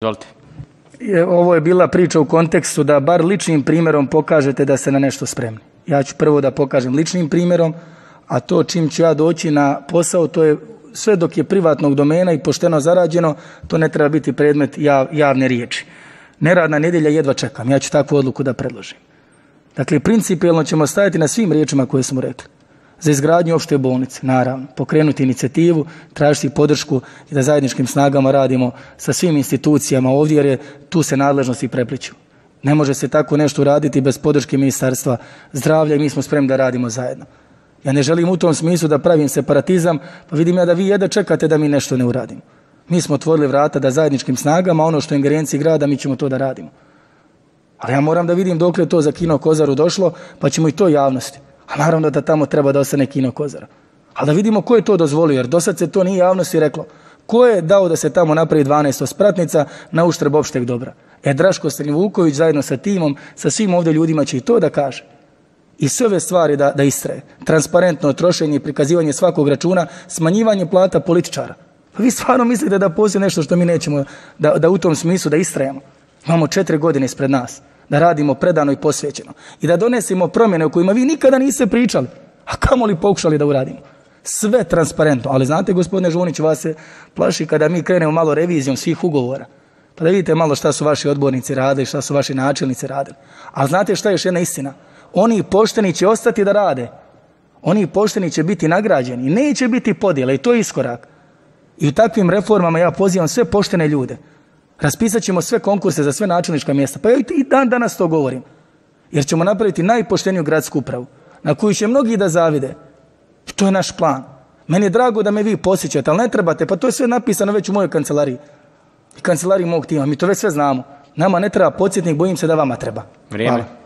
Izvolite. Ovo je bila priča u kontekstu da bar ličnim primjerom pokažete da ste na nešto spremni. Ja ću prvo da pokažem ličnim primjerom, a to čim ću ja doći na posao, to je sve dok je privatnog domena i pošteno zarađeno, to ne treba biti predmet javne riječi. Neradna nedjelja jedva čekam, ja ću takvu odluku da predložim. Dakle, principijelno ćemo stajati na svim riječima koje smo rekli. Za izgradnju opšte bolnice, naravno, pokrenuti inicijativu, tražiti podršku i da zajedničkim snagama radimo sa svim institucijama ovdje, jer tu se nadležnosti prepliću. Ne može se tako nešto uraditi bez podrške Ministarstva zdravlja i mi smo spremni da radimo zajedno. Ja ne želim u tom smislu da pravim separatizam, pa vidim ja da vi jedva čekate da mi nešto ne uradimo. Mi smo otvorili vrata da zajedničkim snagama, ono što je ingerenciji grada, mi ćemo to da radimo. Ali ja moram da vidim dokle je to za Kino Kozaru došlo, pa ćemo i to javnosti. A naravno da tamo treba da ostane Kino Kozara. Ali da vidimo ko je to dozvolio, jer do sad se to nije javnosti reklo. Ko je dao da se tamo napravi 12 spratnica na uštrb opšteg dobra? Draško Srednjovuković zajedno sa timom, sa svim ovdje ljudima će i to da kaže. I sve ove stvari da istraje. Transparentno trošenje i prikazivanje svakog računa, smanjivanje plata političara. Pa vi stvarno mislite da postoji nešto što mi nećemo da u tom smislu da istrajemo? Imamo 4 godine ispred nas. Da radimo predano i posvećeno. I da donesemo promjene o kojima vi nikada niste pričali. A kamoli pokušali da uradimo. Sve transparentno. Ali znate, gospodine Žunić, vas se plaši kada mi krenemo malo revizijom svih ugovora. Pa da vidite malo šta su vaši odbornici radili, šta su vaši načelnici radili. A znate šta je još jedna istina? Oni pošteni će ostati da rade. Oni pošteni će biti nagrađeni. Neće biti podjela i to je iskorak. I u takvim reformama ja pozivam sve poštene ljude. Raspisat ćemo sve konkurse za sve načelnička mjesta. Pa ja i danas to govorim. Jer ćemo napraviti najpošteniju gradsku upravu, na koju će mnogi da zavide. I to je naš plan. Meni je drago da me vi posjećate, ali ne trebate, pa to je sve napisano već u mojoj kancelariji. I kancelariji mog tima. Mi to već sve znamo. Nama ne treba podsjetnik, bojim se da vama treba. Vrijeme. Hvala.